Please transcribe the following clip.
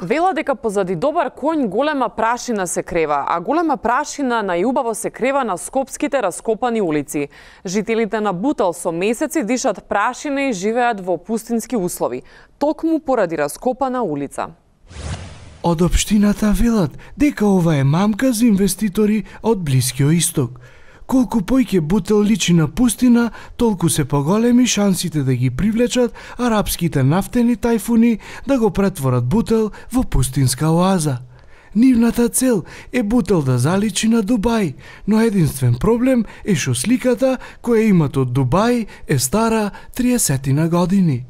Вела дека позади добар конј голема прашина се крева, а голема прашина најубаво се крева на скопските раскопани улици. Жителите на Бутел со месеци дишат прашина и живеат во пустински услови, токму поради раскопана улица. Од општината велат дека ова е мамка за инвеститори од Блискиот Исток. Колку појќе Бутел личи на пустина, толку се поголеми шансите да ги привлечат арапските нафтени тајфуни да го претворат Бутел во пустинска оаза. Нивната цел е Бутел да заличи на Дубај, но единствен проблем е што сликата која имат од Дубај е стара 30 години.